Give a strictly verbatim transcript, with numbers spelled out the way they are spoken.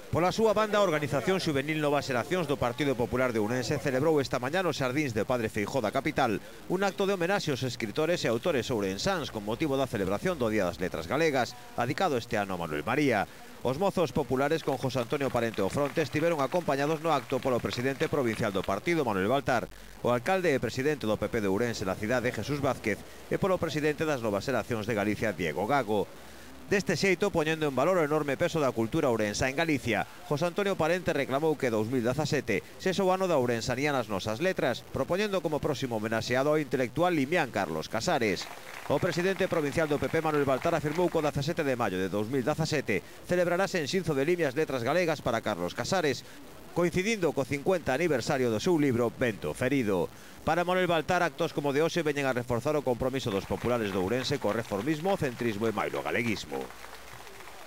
Pola súa banda, a Organización Xuvenil Novas Xeracións do Partido Popular de Ourense celebrou esta mañá nos xardíns de Padre Feijóo da capital un acto de homenaxe aos escritores e autores ourensáns con motivo da celebración do Día das Letras Galegas, adicado este ano a Manuel María. Os mozos populares con José Antonio Parente ao fronte estiveron acompañados no acto polo presidente provincial do partido, Manuel Baltar, o alcalde e presidente do P P de Ourense na cidade, Jesús Vázquez, e polo presidente das Novas Xeracións de Galicia, Diego Gago. Deste xeito, poñendo en valor o enorme peso da cultura ourensa en Galicia, José Antonio Parente reclamou que dous mil dezasete sexa o ano da ourensanía nas nosas letras, propoñendo como próximo homenaxeado ao intelectual limián Carlos Casares. O presidente provincial do P P, Manuel Baltar, afirmou que o dezasete de maio de dous mil dezasete celebrarase en Xinzo de Limia as letras galegas para Carlos Casares, coincidindo co cincuenta aniversario do seu libro Vento Ferido. Para Manuel Baltar, actos como de hoxe veñen a reforzar o compromiso dos populares de Ourense co reformismo, o centrismo e mailo galeguismo.